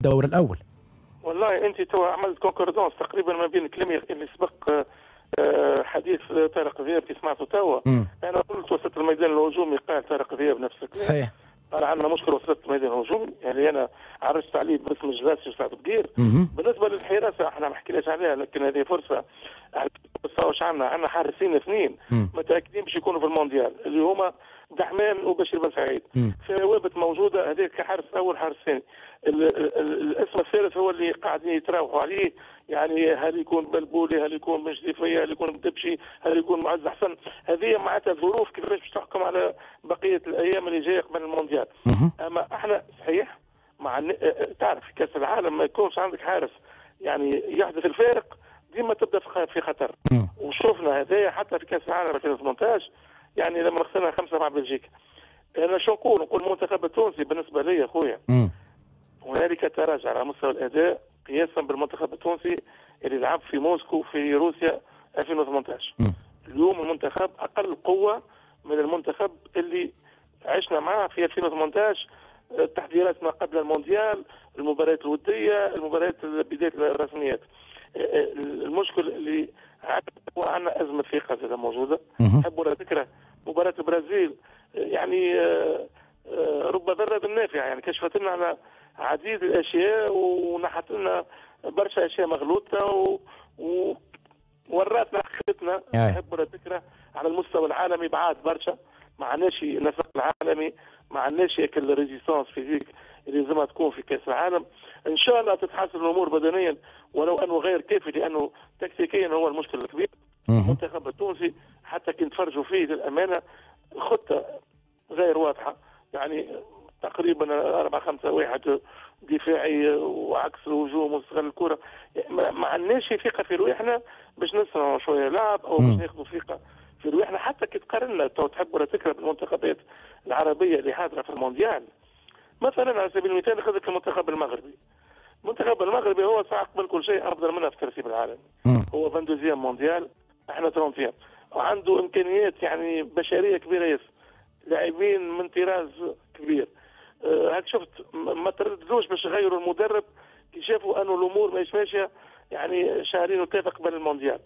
الدور الاول. والله انت تو عملت concordance تقريبا ما بين كلامي اللي سبق حديث طارق ذياب كي سمعته توا. انا قلت وسط الميدان الهجومي، قال طارق ذياب نفس الكلام. صحيح. قال عندنا مشكل وسط الميدان الهجومي، يعني انا عرجت عليه باسم الجلاسي وسعد بقير. بالنسبة للحراسه احنا ما حكيناش عليها، لكن هذه فرصة. واش عندنا حارسين اثنين متاكدين باش يكونوا في المونديال، اللي هما دحمان وبشير بن سعيد. ثوابت موجودة، هذاك كحارس اول حارس ثاني. الاسم الثالث هو اللي قاعدين يتراوحوا عليه، يعني هل يكون بلبولي، هل يكون مجدي، هل يكون بدبشي، هل يكون معز حسن. هذه معناتها ظروف كيفاش باش تحكم على بقية الايام اللي جاية قبل المونديال. اما احنا صحيح مع تعرف في كاس العالم ما يكونش عندك حارس يعني يحدث الفارق، ديما تبدا في خطر. وشوفنا هذايا حتى في كاس العالم 2018، يعني لما خسرنا 5 مع بلجيكا. انا شو نقول؟ نقول المنتخب التونسي بالنسبة لي خويا هنالك تراجع على مستوى الاداء قياسا بالمنتخب التونسي اللي لعب في موسكو في روسيا 2018. اليوم المنتخب اقل قوة من المنتخب اللي عشنا معاه في 2018، التحضيرات ما قبل المونديال، المباريات الودية، المباريات بداية الرسميات. المشكل اللي عندنا ازمة ثقة زادة موجودة. نحب ولا تكره مباراة البرازيل يعني رب ضارة نافعة، يعني كشفت لنا على عديد الاشياء ونحت لنا برشا اشياء مغلوطة ووراتنا حقيقتنا. نحب ولا تكره على المستوى العالمي بعاد برشا، ما عندناش النسق العالمي، ما عندناش ال résistance physique اللي لازمها تكون في كاس العالم. ان شاء الله تتحسن الامور بدنيا، ولو انه غير كافي لانه تكتيكيا هو المشكل الكبير. المنتخب التونسي حتى كي نتفرجوا فيه للامانة خطه غير واضحة، يعني تقريبا 4-5-1 دفاعي وعكس الهجوم واستغلال الكره. ما عندناش ثقة في رواحنا باش نصنعوا شوية لعب او باش ناخذوا ثقة في رواحنا. حتى كي تقارنا تحب ولا تكره بالمنتخبات العربية اللي حاضره في المونديال، مثلا على سبيل المثال خذك المنتخب المغربي. المنتخب المغربي هو ساعة قبل كل شيء افضل منا في الترتيب العالمي، هو 22 مونديال، احنا 30، وعنده امكانيات يعني بشرية كبيرة ياسر، لاعبين من طراز كبير. هاك شفت ما ترددوش باش يغيروا المدرب كي شافوا انه الامور ماهيش ماشية، يعني شهرين وثلاثة قبل المونديال.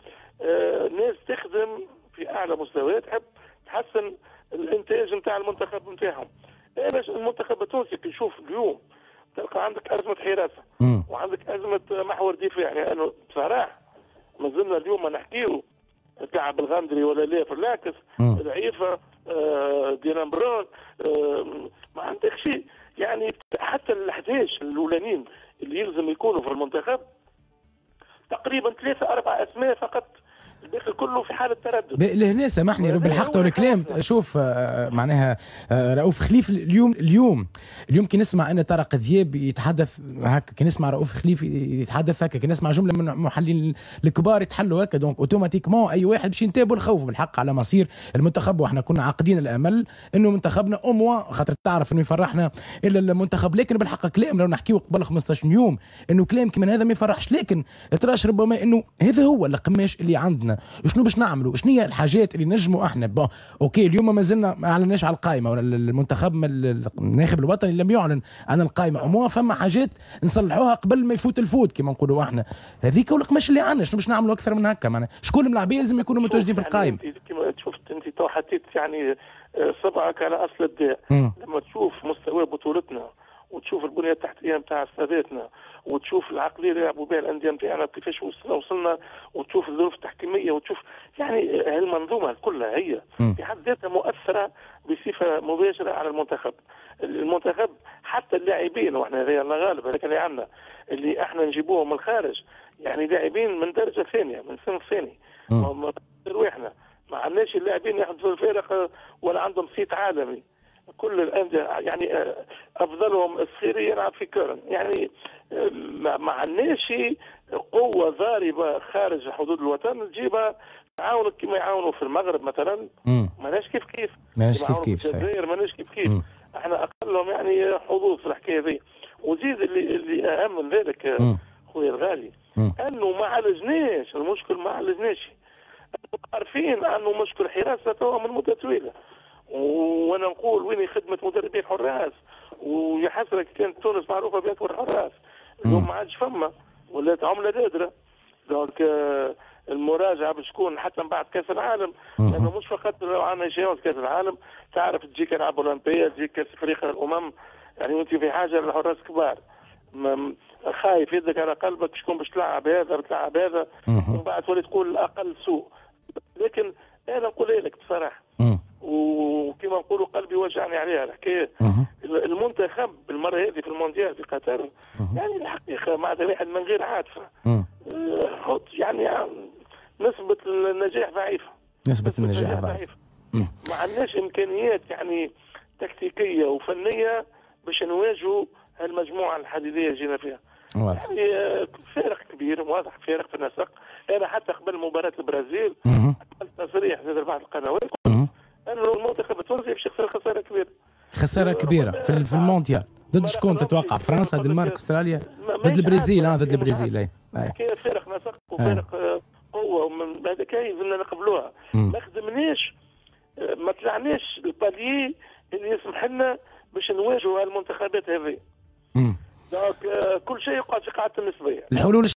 ناس تخدم في اعلى مستوى، تحب تحسن الانتاج نتاع المنتخب نتاعهم. المنتخب التونسي كي نشوف اليوم تلقى عندك ازمة حراسة وعندك ازمة محور دفاع، لانه يعني بصراحة مازلنا اليوم ما نحكيو كعب الغندري ولا لا في العكس ضعيفة ديلان برون، ما عندكش يعني حتى ال 11 الاولانيين اللي يلزم يكونوا في المنتخب تقريبا 3-4 اسماء فقط، الباقي كله في حاله تردد. لهنا سامحني رب الحق والكلام. شوف معناها رؤوف خليف اليوم اليوم كي نسمع ان طارق ذياب يتحدث هكا، كي نسمع رؤوف خليف يتحدث هكا، كي نسمع جملة من المحللين الكبار يتحلوا هكا، donc automatiquement اي واحد باش ينتابوا الخوف بالحق على مصير المنتخب. واحنا كنا عاقدين الامل انه منتخبنا au moins خاطر تعرف انه يفرحنا الا المنتخب، لكن بالحق كلام لو نحكيو قبل 15 يوم انه كلام كيما هذا ما يفرحش، لكن تراش ربما انه هذا هو القماش اللي عندنا. شنو باش نعملوا؟ شنو هي الحاجات اللي نجموا احنا؟ bon OK اليوم ما زلنا ما اعلناش على القائمة، ولا المنتخب الناخب الوطني لم يعلن عن القائمة، au moins فما حاجات نصلحوها قبل ما يفوت الفوت كما نقولوا احنا. هذيك هو القماش اللي عندنا، شنو باش نعملوا اكثر من هكا؟ معناها شكون الملاعبيه لازم يكونوا متواجدين في القائمة؟ يعني كما شفت انت تو حطيت يعني صبعك على اصل الداء. لما تشوف مستوى بطولتنا وتشوف البنية التحتية نتاع استاداتنا وتشوف العقلية اللي يلعبوا بها الاندية نتاعنا كيفاش وصلنا، وتشوف الظروف التحكيميه، وتشوف يعني هالمنظومه كلها هي في حد ذاتها مؤثرة بصفة مباشرة على المنتخب. المنتخب حتى اللاعبين، واحنا هذا الله غالب هذاك اللي عندنا اللي احنا نجيبوهم من الخارج، يعني لاعبين من درجه ثانية من صنف ثاني، رواحنا ما عندناش اللاعبين يحدثوا الفارق ولا عندهم صيت عالمي. كل الاندية يعني افضلهم الصخيري يلعب في كورن، يعني ما عندناش قوة ضاربه خارج حدود الوطن تجيبها تعاونك كما يعاونوا في المغرب مثلا. ماناش كيف كيف، ماناش كيف كيف، في الجزائر ماناش كيف كيف، احنا اقلهم يعني حظوظ في الحكاية ذي. وزيد اللي اهم من ذلك خويا الغالي انه ما عالجناش المشكل، ما عالجناش. عارفين انه مشكل حراسة توا من مده طويلة، وانا نقول وين خدمة مدربين حراس، ويا حسرة كانت تونس معروفة باكبر حراس. اليوم ما عادش فما، ولات عمله نادرة. donc المراجعة باش تكون حتى من بعد كاس العالم، لانه مش فقط لو عندنا échéance كاس العالم، تعرف تجيك العاب اولمبيه، تجيك كاس افريقيا الامم، يعني وانت في حاجة للحراس كبار، خايف يدك على قلبك شكون باش تلعب هذا بتلعب هذا، ومن بعد تولي تقول الاقل سوء. لكن انا نقول لك بصراحة، وكما نقولوا قلبي وجعني عليها الحكاية، المنتخب المرة هذه في المونديال في قطر، يعني الحقيقة معناتها واحد من غير عاطفة، يعني نسبه النجاح ضعيفة. نسبه النجاح ضعيفة. ما عندناش امكانيات يعني تكتيكية وفنيه باش نواجهوا هالمجموعة الحديدية اللي جينا فيها. يعني فارق كبير واضح، فارق في النسق. انا حتى قبل مباراة البرازيل عملت تصريح في بعض القنوات انه المنتخب التونسي باش يخسر خسارة كبيرة. خسارة كبيرة في المونديال. ضد شكون تتوقع؟ فرنسا، الدنمارك، استراليا؟ ضد البرازيل. ضد البرازيل. اي فارق نسق وفارق قوة، ومن هذاك لازمنا نقبلوها. ما خدمناش، ما طلعناش ال palier اللي يسمح لنا باش نواجهوا هالمنتخبات هذه. donc كل شيء يقعد في قاعدة النسبية. الحلول